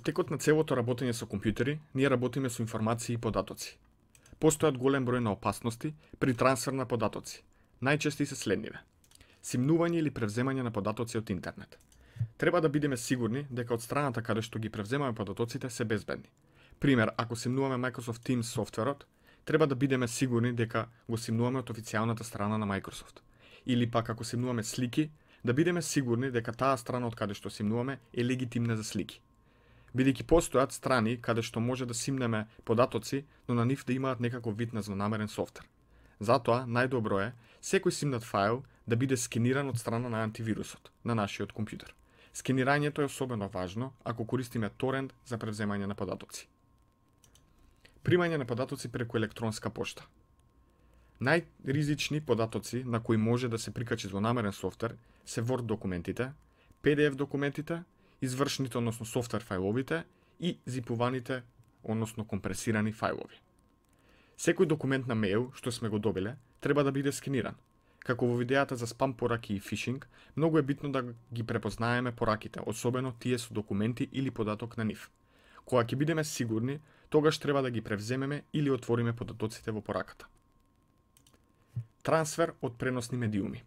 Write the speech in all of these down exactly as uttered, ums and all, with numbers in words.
текот на целото работење со компјутери, ние работиме со информации и податоци. Постојат голем број на опасности при трансфер на податоци. Најчести се следниве: симнување или превземање на податоци од интернет. Треба да бидеме сигурни дека од страната каде што ги превземаме податоците се безбедни. Пример, ако симнуваме Microsoft Teams софтверот, треба да бидеме сигурни дека го симнуваме од официјалната страна на Microsoft. Или пак ако симнуваме слики, да бидеме сигурни дека таа страна од каде што симнуваме е легитимна за слики. Бидејќи постојат страни каде што може да симнеме податоци, но на нив да имаат некаков вид на злонамерен софтвер. Затоа најдобро е секој симнат файл да биде скениран од страна на антивирусот на нашиот компјутер. Скенирањето е особено важно ако користиме торент за превземање на податоци. Примање на податоци преку електронска пошта. Најризични податоци на кои може да се прикачи злонамерен софтвер се Word документите, P D F документите, извршните, односно софтвер фајловите и зипуваните, односно компресирани фајлови. Секој документ на мејл што сме го добиле треба да биде скениран. Како во видеата за спам пораки и фишинг, многу е битно да ги препознаеме пораките, особено тие со документи или податок на нив. Кога ќе бидеме сигурни, тогаш треба да ги превземеме или отвориме податоците во пораката. Трансфер од преносни медиуми.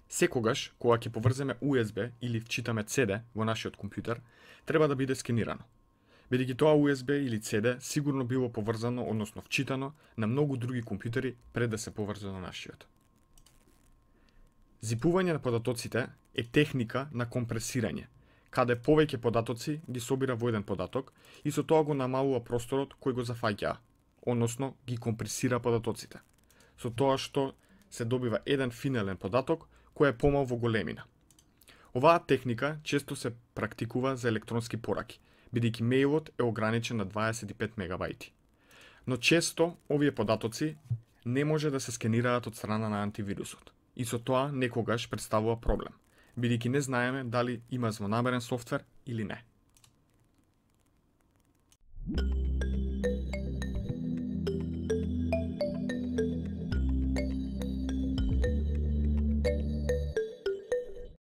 Секогаш, кога ќе поврземе U S B или вчитаме C D во нашиот компјутер, треба да биде скенирано. Бидејќи тоа U S B или C D сигурно било поврзано, односно вчитано, на многу други компјутери пред да се поврзе на нашиот. Зипување на податоците е техника на компресирање, каде повеќе податоци ги собира во еден податок и со тоа го намалува просторот кој го зафаќаа, односно ги компресира податоците, со тоа што се добива еден финален податок кој е помал во големина. Оваа техника често се практикува за електронски пораки, бидејќи мејлот е ограничен на дваесет и пет мегабајти. Но често овие податоци не може да се скенираат од страна на антивирусот и со тоа некогаш представува проблем, бидејќи не знаеме дали има злонамерен софтвер или не.